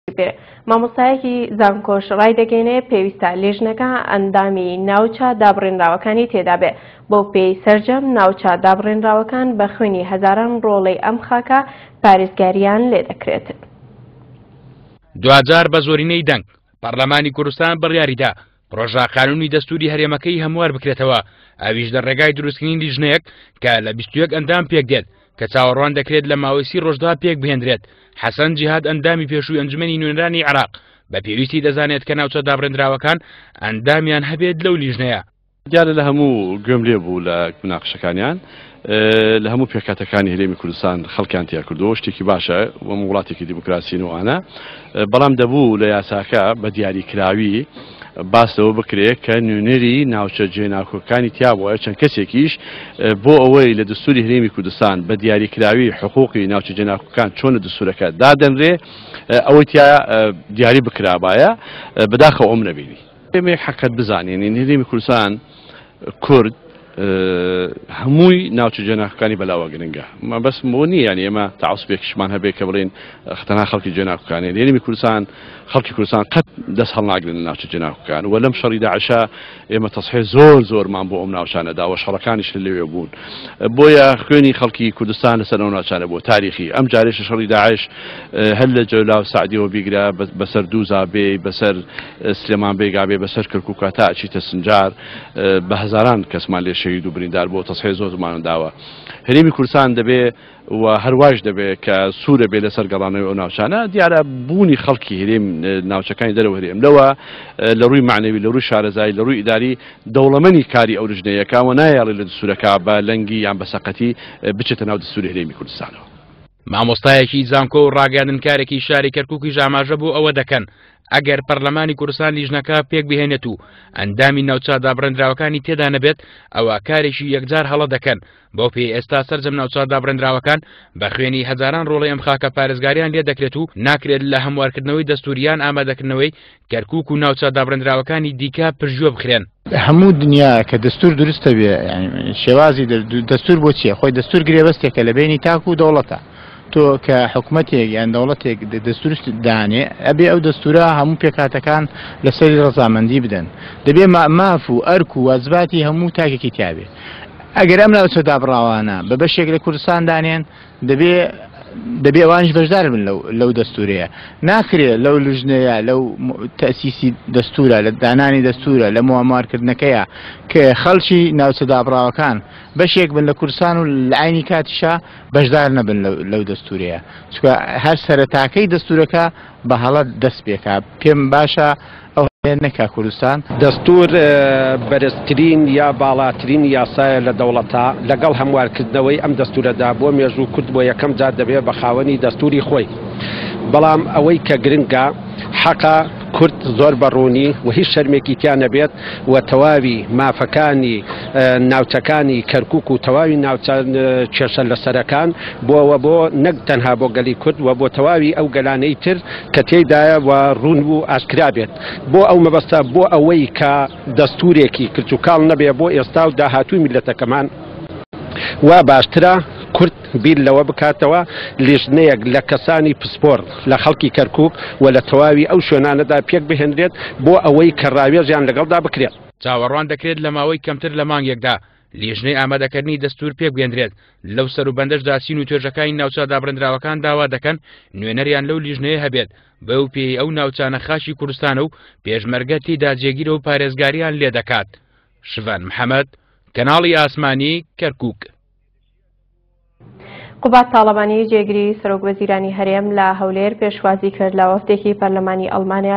بێ. مامۆستایەکی زانکۆش ڕایدەگەینێ پێویستە لیژنەکە ئەندامی ناوچە دابڕێنراوەکانی تێدابێ، بەو پێیەی سەرجەم ناوچە دابڕێنراوەکان بە خوێنی هەزاران ڕۆڵەی ئەم خاکە پارێزگارییان لێدەکرێت. دواجار بە زۆرینەی دەنگ پەڕلەمانی کوردستان بڕیاریدا پڕۆژە قانونی دەستوری هەرێمەکەی هەموار بکرێتەوە، ئەویش لە ڕێگای دروستکردنی لیژنەیەک کە لە 21 ئەندام پێکدێت کە چاوەڕوان دەکرێت لە ماوەی سی ڕۆژدا پێک بهێندرێت. حەسەن جیهاد ئەندامی پێشووی ئەنجومەنی نوێنەرانی عێراق بە پێویستی دەزانێت کە ناوچە دابڕێندراوەکان ئەندامیان هەبێت لەو لیژنەیە. دیارە لە هەموو گوێم لێ بوو لە مناقشەکانیان لە هەموو پێکهاتەکانی هەرێمی کوردستان خەڵکیان تیا کردووە شتێکی باشە وەم وڵاتێکی دیموکراسین و ئانە بەڵام دەبوو لە یاساکە بە دیاریکراوی باس لەوە بکرێت کە نوێنەری ناوچە جێناکۆکانی تیا بووە چەند کەسێکیش بۆ ئەوەی لە دەستوری هەرێمی کوردستان بە دیاریکراوی حقوقی ناوچە جێناکۆکان چۆن لە دەستورەکە دادەنرێ ئەوەی تیا دیاری بکرابایە بەداخەوە ئەوم نەبینی. ئێمە یەک حەقیقەت بزانین هەرێمی کوردستان کورد هەمووی ناوچە جێناکەکانی بەلاوە گرنگە مەبەست بۆ نییە یانی ئێمە تەعەسوبێکیشمان هەبێ کە بڵێین تەنها خەڵکی جێناکەکانی هەرێمی کوردستان خەڵکی کوردستان قەت دەست هەڵناگرن لە ناوچە جێناکەکان و لەم شەڕی داعشە ئێمە تەسحێ زۆر زۆرمان بۆ ئەم ناوچانە داوە شەڕەکانیش لە لەوێ بوون بۆیە خوێنی خەڵکی کوردستان لەسەر ئەو ناوچانە بۆ تاریخی ئەم جارێش شەڕی داعش هەر لە جەولا و سعدیەوە بیگرە بەسەر دووزا بێ بەسەر سلێمان بێگا بێ بەسەر کەرکووکا تا ئەچیتە سنجار بە هەزاران کەسمان لێ شەهید و بریندار بۆ تەسحێ زۆرمان داوە هەرێمی کوردستان دەبێ و هەرواش دەبێ کە سوورە بێ لەسەر گەڕانەوەی ئەو ناوچانە دیارە بوونی خەڵکی هەرێم ناوچەکانی دەرەوە هەرێم لەوە لە ڕووی معنەوی لە ڕووی شارەزایی لە ڕووی ئیداری دەوڵەمەنی کاری ئەو لژنەیەکە و نایەڵێ لە دەستوورەکە بە لەنگی یان بە سەقەتی بچێتە ناو دەستووری هەرێمی کوردستانەوە. مامۆستایەکی زانکۆ و ڕاگەیاندنکارێکی شاری کەرکووکیش ئاماژە بۆ ئەوە دەکەن ئەگەر پەرلەمانی کوردستان لیژنەکە پێکبهێنێت و ئەندامی ناوچە دابڕێندراوەکانی تێدا نەبێت ئەوە کارێکی یەکجار هەڵە دەکەن بەو پێی ئێستا سەرجەم ناوچە دابڕێندراوەکان بە خوێنی هەزاران ڕۆڵەی ئەم خاکە پارێزگاریان لێ دەکرێت و ناکرێت لە هەموارکردنەوەی دەستوریان ئامادەکردنەوەی کەرکوک و ناوچە دابڕێندراوەکانی دیکە پشتگوێ بخرێن. هەموو دنیا کە دەستور دروستە بێ شێوازی دەستور بۆ چییە خۆی دەستور گرێبەستێکە لە بینی تاک و دەوڵەتە تۆ کە حکومەتێک یان دەوڵەتێک دەستورست دانێ ئەبێ ئەو دەستورە هەموو پێکهاتەکان لەسەری ڕەزامەندی بدەن دەبێ ماف و ئەرک و وازباتی هەموو تاکێکی تیابێ ئەگەر ئەم ناوچە دابڕاوانە بە بەشێک لە کوردستان دانێن دەبێ دەبێ ئەوانیش بەشدار بن لەو لەو دەستورەیە ناکرێ لەو لژنەیە لەو تەسیسی دەستورە لە دانانی دەستورە لە موامارکردنەکەیە کە خەڵکی ناوچە دابڕاوەکان بەشێک بن لە کوردستان و لە عینی کاتیشا بەشدار نەبن لەو دەستورەیە چونکە هەر سەرەتاکەی دەستورەکە بە هەڵە دەست پێکا پێم باشە ئەو هەڵەیە نەکا کوردستان. دەستور بەرزترین یا باڵاترین یاسایە لە دەوڵەتا، لەگەڵ هەموارکردنەوەی ئەم دەستورەدا بۆ مێژوو کورد بۆ یەکەم جار دەبێ بە خاوەنی دەستوری خۆی. بەڵام ئەوەی کە گرنگە حەقە کورد زۆر بە ڕوونی و هیچ شەرمێکی تیا نەبێت و تەواوی مافەکانی ناوچەکانی کەرکوک و تەواوی ناوچە کێشە لەسەرەکان بۆ و بۆ نەک تەنها بۆ گەلی کورد و بۆ تەواوی ئەو گەلانەی تر کە تێیدایە و ڕوون و ئاشکرا بێت بۆ ئەو مەبەستە بۆ ئەوەی کە دەستورێکی کرچ و کاڵ نەبێ بۆ ئێستا و داهاتووی میللەتەکەمان وا باشترە کورد بیر لەوە بکاتەوە لیژنەیەک لە کەسانی پسپۆڕ لە خەڵکی کەرکوک و لە تەواوی ئەو شوێنانەدا پێک بهێنرێت بۆ ئەوەی کە ڕاوێژیان لەگەڵدا بکرێت. چاوەڕوان دەکرێت لە ماوەی کەمتر لە مانگێکدا لیژنەی ئامادەکردنی دەستوور پێکبهێندرێت، لەو سەروبەندەشدا چین و توێژەکانی ناوچە دابڕێندراوەکان داوا دەکەن نوێنەریان لەو لیژنەیە هەبێت، بەو پێیەی ئەو ناوچانە خاکی کوردستانە و پێشمەرگە تێیدا جێگیرە و پارێزگاریان لێدەکات. شڤان محەمەد، کەناڵی ئاسمانی، کەرکوک. قوباد تاڵەبانی جێگری سەرۆک وەزیرانی هەرێم لە هەولێر پێشوازی کرد لە وەفدێکی پەرلەمانی ئەڵمانیا.